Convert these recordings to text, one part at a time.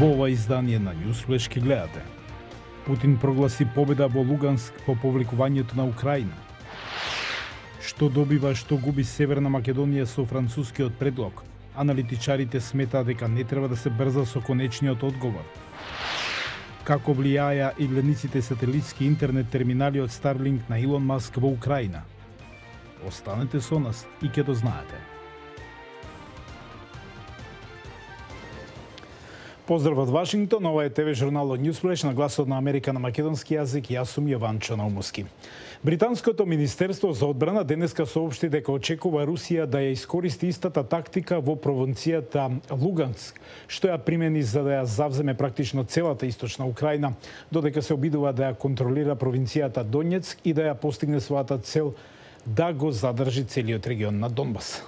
Во ова издание на Newsflash ке гледате: Путин прогласи победа во Луганск по повлекувањето на Украина. Што добива, што губи Северна Македонија со францускиот предлог? Аналитичарите сметаат дека не треба да се брза со конечниот одговор. Како влијаја игледниците сателитски интернет терминали од Starlink на Илон Маск во Украина? Останете со нас и ќе дознаете. Поздрав од Вашингтон, ова е ТВ журналот Newsflash на гласот на Америка на македонски јазик. Јас сум Јованчо Наумовски. Британското Министерство за одбрана денеска соопшти дека очекува Русија да ја искористи истата тактика во провинцијата Луганск, што ја примени за да ја завземе практично целата источна Украина, додека се обидува да ја контролира провинцијата Донецк и да ја постигне својата цел да го задржи целиот регион на Донбас.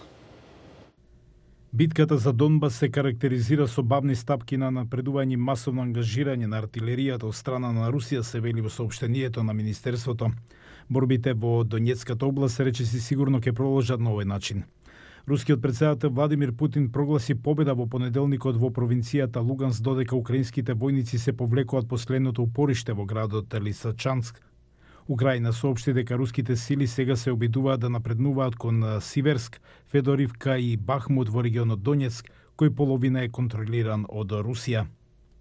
Битката за Донбас се карактеризира со бавни стапки на напредување и масовно ангажирање на артилеријата од страна на Русија, се вели во соопштението на Министерството. Борбите во Донецката област речиси сигурно ќе продолжат на овој начин. Рускиот председател Владимир Путин прогласи победа во понеделникот во провинцијата Луганск, додека украинските војници се повлекуваат последното упориште во градот Лисичанск. Украина соопшти дека руските сили сега се обидуваат да напреднуваат кон Сиверск, Федоривка и Бахмут во регионот Донецк, кој половина е контролиран од Русија.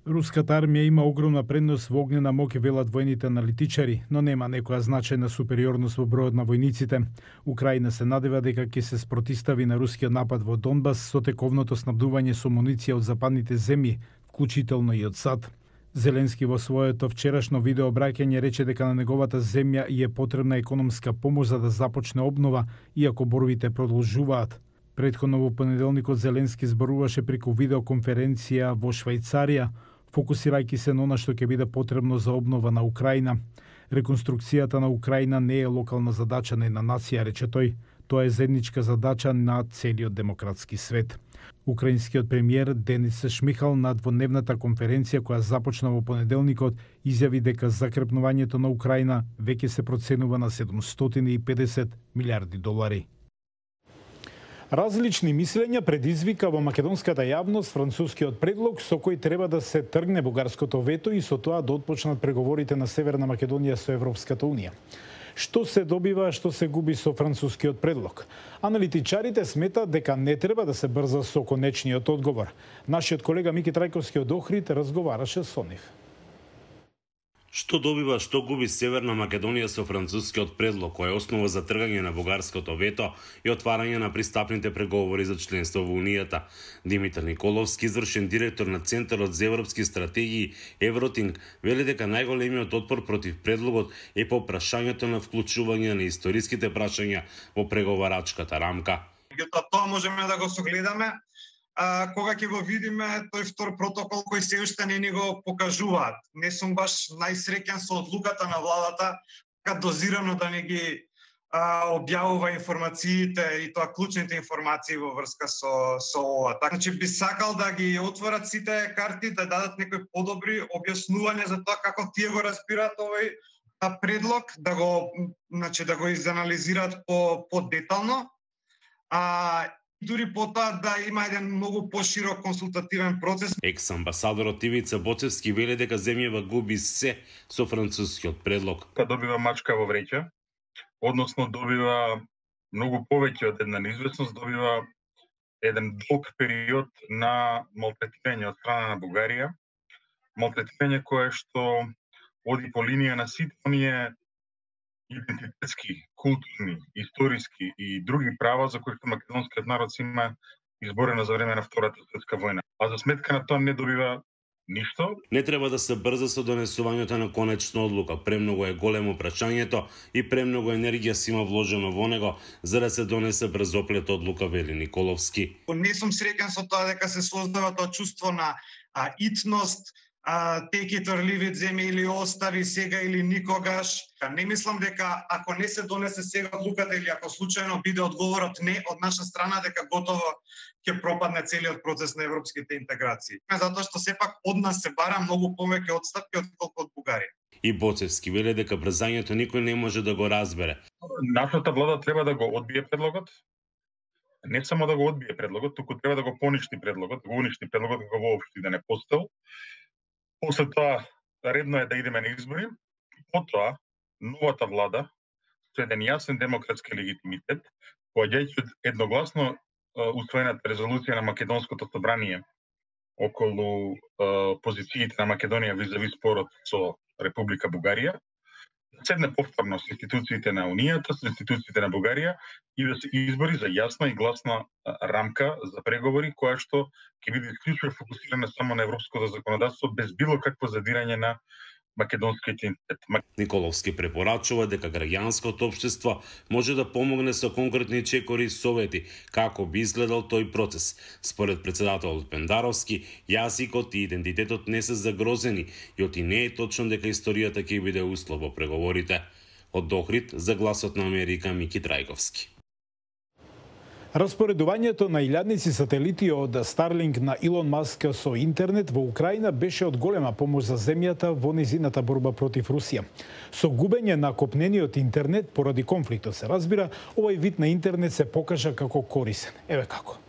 Руската армија има огромна предност во огнена моќ, велат војните аналитичари, но нема некоја значајна супериорност во бројот на војниците. Украина се надева дека ќе се спротистави на рускиот напад во Донбас со тековното снабдување со муниција од западните земји, вклучително и од САД. Зеленски во своето вчерашно видео обраќање рече дека на неговата земја и е потребна економска помош за да започне обнова, иако борбите продолжуваат. Претходно во понеделникот Зеленски зборуваше преку видеоконференција во Швајцарија, фокусирајќи се на она што ќе биде потребно за обнова на Украина. Реконструкцијата на Украина не е локална задача на една нација, рече тој. Тоа е заедничка задача на целиот демократски свет. Украинскиот премиер Денис Шмихал на дводневната конференција која започна во понеделникот изјави дека закрепнувањето на Украина веќе се проценува на $750 милиарди. Различни мислења предизвика во македонската јавност францускиот предлог со кој треба да се тргне бугарското вето и со тоа да отпочнат преговорите на Северна Македонија со Европската унија. Што се добива, што се губи со францускиот предлог? Аналитичарите сметаат дека не треба да се брза со конечниот одговор. Нашиот колега Мики Трајковски од Охрид разговараше со нив. Што добива, што губи Северна Македонија со францускиот предлог, кој е основа за тргање на бугарското вето и отварање на пристапните преговори за членство во Унијата? Димитар Николовски, извршен директор на Центарот за европски стратегии Евротинг, вели дека најголемиот отпор против предлогот е по прашањето на вклучување на историските прашања во преговарачката рамка. Тоа можеме да го согледаме кога ќе го видиме тој втор протокол кој се уште не ни го покажуваат. Не сум баш најсреќен со одлуката на владата така дозирано да не ги објавува информациите и тоа клучните информации во врска со ова. Значи би сакал да ги отворат сите карти, да дадат некои подобри објаснувања за тоа како тие го разбираат овој предлог, да го изанализираат по детално. Дури потоа да има еден многу поширок консултативен процес. Екс-амбасадорот Ивица Боцевски вели дека земјава губи се со францускиот предлог. Добива мачка во вреќа, односно добива многу повеќе од една неизвестност, добива еден долг период на малтретирање од страна на Бугарија. Малтретирање кое што оди по линија на сите оние идентитетски, културни, историски и други права за кои македонскиот народ си има изборено за време на Втората светска војна. А за сметка на тоа не добива ништо. Не треба да се брза со донесувањето на конечна одлука. Премногу е големо прашањето и премногу енергија си има вложено во него за да се донесе брзоплет одлука, вели Николовски. Не сум среќен со тоа дека се создава тоа чувство на итност, take it or leave it, земи или остави сега или никогаш. Не мислам дека ако не се донесе сега одлуката или ако случајно биде одговорот не од наша страна, дека готово ќе пропадне целиот процес на европските интеграции. Затоа што сепак од нас се бара многу повеќе отстапки отколку од Бугарија. И Боцевски вели дека брзањето никој не може да го разбере. Нашата влада треба да го одбие предлогот, не само да го одбие предлогот, туку треба да го поништи предлогот, да го уништи предлогот, да го воопшти, да не постел. После тоа, редно е да идеме на избори. Потоа, новата влада, со еден јасен демократски легитимитет, поаѓајќи од едногласно усвоената резолуција на Македонското собрание околу позициите на Македонија визави спорот со Република Бугарија, седне повторно со институциите на Унијата, со институциите на Бугарија и да се избори за јасна и гласна рамка за преговори, која што ќе биде исклучиво фокусирана само на европското законодавство, без било какво задирање на македонскиот идентитет. Николовски препорачува дека граѓанското општество може да помогне со конкретни чекори и совети како би изгледал тој процес. Според председателот Пендаровски, јазикот и идентитетот не се загрозени и оти не е точно дека историјата ќе биде услов во преговорите. Од Охрид за Гласот на Америка Мики Трајковски. Распоредувањето на илјадници сателити од Старлинг на Илон Маск со интернет во Украина беше од голема помош за земјата во низината борба против Русија. Со губење на копнениот интернет поради конфликтот се разбира, овој вид на интернет се покажа како корисен. Еве како.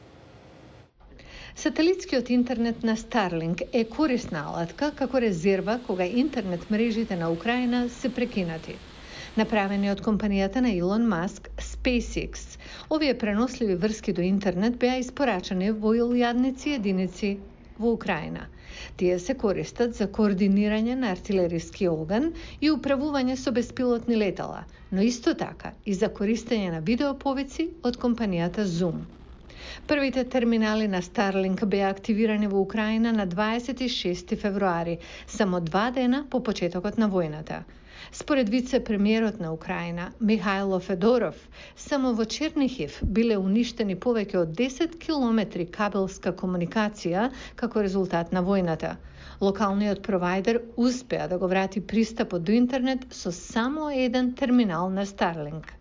Сателитскиот интернет на Старлинг е корисна алатка како резерва кога интернет мрежите на Украина се прекинати. Направени од компанијата на Илон Маск, SpaceX, овие преносливи врски до интернет беа испорачани во илјадници единици во Украина. Тие се користат за координирање на артилериски оган и управување со беспилотни летала, но исто така и за користење на видеоповици од компанијата Zoom. Првите терминали на Старлинг беа активирани во Украина на 26 февруари, само 2 дена по почетокот на војната. Според вице-премиерот на Украина, Михајло Федоров, само во Чернихив биле уништени повеќе од 10 километри кабелска комуникација како резултат на војната. Локалниот провајдер успеа да го врати пристапот до интернет со само еден терминал на Старлинг.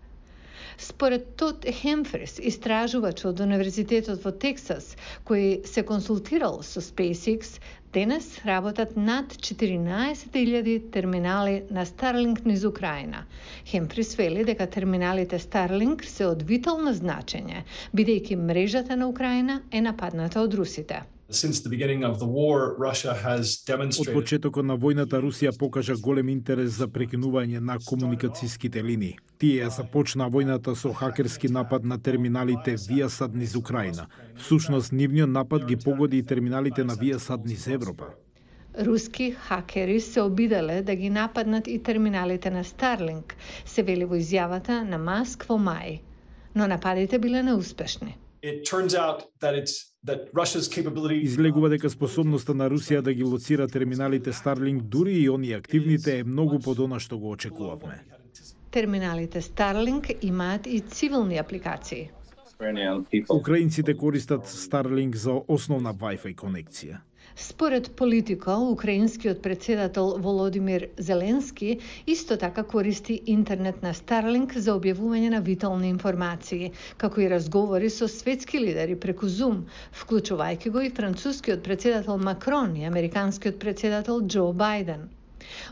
Според Тод Хемфрис, истражувач од Универзитетот во Тексас, кој се консултирал со SpaceX, денес работат над 14.000 терминали на Старлинг низ Украина. Хемфрис вели дека терминалите Старлинг се од витално значење, бидејќи мрежата на Украина е нападната од русите. Од почетокот на војната Русија покажа голем интерес за прекинување на комуникацијските линии. Тие започнаа војната со хакерски напад на терминалите Viasat низ Украина. Всушност, нивниот напад ги погоди и терминалите на Viasat низ Европа. Руски хакери се обиделе да ги нападнат и терминалите на Старлинг, се вели во изјавата на Маск во мај. Но нападите биле неуспешни. Излегува дека способноста на Русија да ги лоцира терминалите Старлинг, дури и оние активните, е многу под она што го очекувавме. Терминалите Старлинг имаат и цивилни апликации. Украинците користат Старлинг за основна Wi-Fi конекција. Според Политико, украинскиот председател Володимир Зеленски исто така користи интернет на Старлинг за објавување на витални информации, како и разговори со светски лидери преку Zoom, вклучувајќи го и францускиот председател Макрон и американскиот председател Џо Бајден.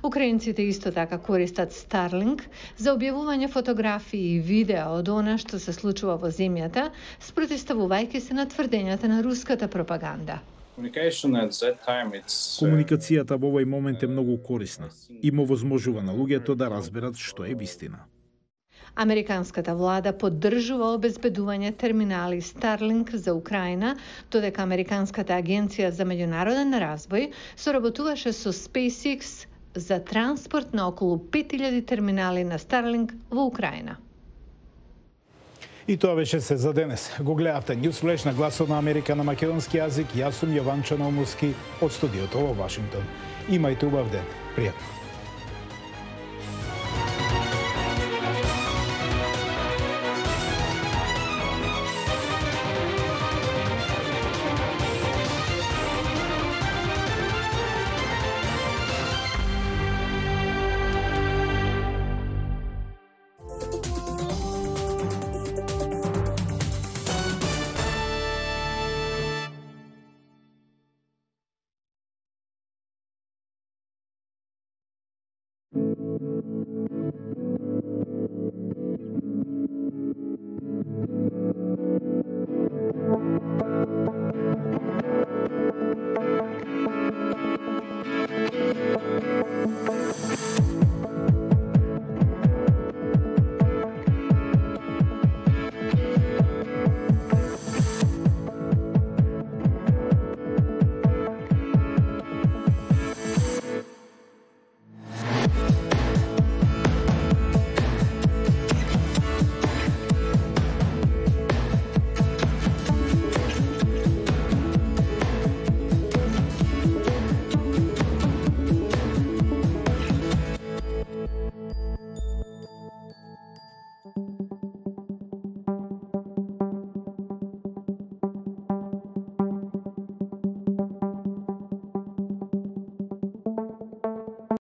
Украинците исто така користат Старлинг за објавување фотографии и видеа од она што се случува во земјата, спротивставувајќи се на тврдењата на руската пропаганда. Комуникацијата во овој момент е многу корисна и му возможува на луѓето да разберат што е вистина. Американската влада поддржува обезбедување терминали Старлинг за Украина, додека Американската агенција за меѓународен развој соработуваше со SpaceX за транспорт на околу 5000 терминали на Старлинг во Украина. И тоа беше се за денес. Го гледавте Newsflash на Гласот на Америка на македонски јазик. Јас сум Јован Чаномуски од студиото во Вашингтон. Имајте убав ден. Пријатно.